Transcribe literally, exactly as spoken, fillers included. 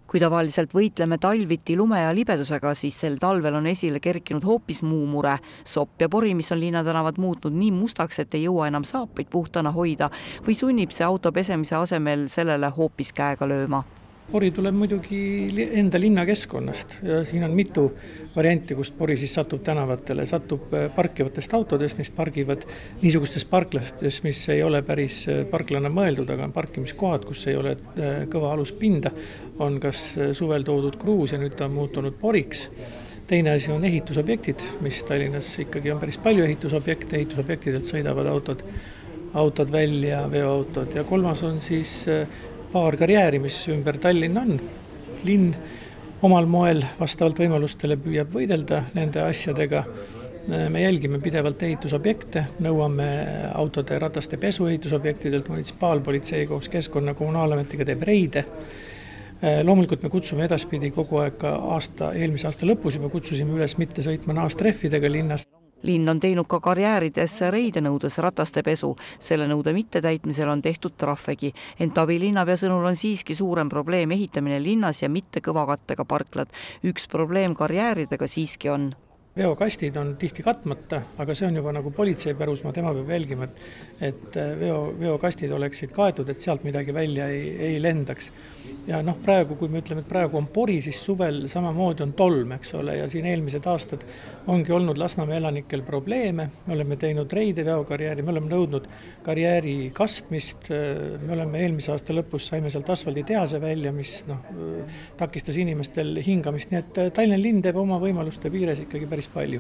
Kui tavaliselt võitleme talviti lume ja libedusega, siis sel talvel on esile kerkinud hoopis muu mure. Sopp ja pori, mis on linnatänavad muutnud nii mustaks, et ei jõua enam saapaid puhtana hoida või sunnib see auto pesemise asemel sellele hoopis käega lööma. Pori tuleb muidugi enda linnakeskkonnast ja siin on mitu varianti, kust pori siis satub tänavatele. Satub parkivatest autodest, mis pargivad niisugustes parklastes, mis ei ole päris parklana mõeldud, aga on parkimiskohad, kus ei ole kõva aluspinda. On kas suvel toodud kruus ja nüüd ta on muutunud poriks. Teine asi on ehitusobjektid, mis Tallinnas ikkagi on päris palju ehitusobjekte. Ehitusobjektidelt sõidavad autod, autod välja, veoautod ja kolmas on siis paar karjääri, mis ümber Tallinna on. Linn omal moel vastavalt võimalustele püüab võidelda nende asjadega. Me jälgime pidevalt ehitusobjekte, nõuame autode rataste pesu ehitusobjektidelt, munitsipaalpolitsei koos keskkonna kommunaalametiga teeb reide. Loomulikult me kutsume edaspidi kogu aeg aasta, eelmise aasta lõpus juba kutsusime üles mitte sõitma naastreffidega linnas. Linn on teinud ka karjäärides reide nõudes rataste pesu. Selle nõude mittetäitmisel on tehtud trahvegi. Ent Avi linnapea sõnul on siiski suurem probleem ehitamine linnas ja mitte kõvakattega parklad. Üks probleem karjääridega siiski on. Veokastid on tihti katmata, aga see on juba nagu politsei pärusmaa, tema peab jälgima, et veo, veokastid oleksid kaetud, et sealt midagi välja ei, ei lendaks. Ja noh, praegu, kui me ütleme, et praegu on pori, siis suvel samamoodi on tolm, eks ole, ja siin eelmised aastad ongi olnud Lasnamäe elanikel probleeme. Me oleme teinud reide veokarjääri, me oleme nõudnud karjääri kastmist, me oleme eelmise aasta lõpus saime sealt asfalditehase välja, mis noh, takistas inimestel hingamist, nii et Tallinna linn teeb oma võimaluste piires ikkagi päris palju.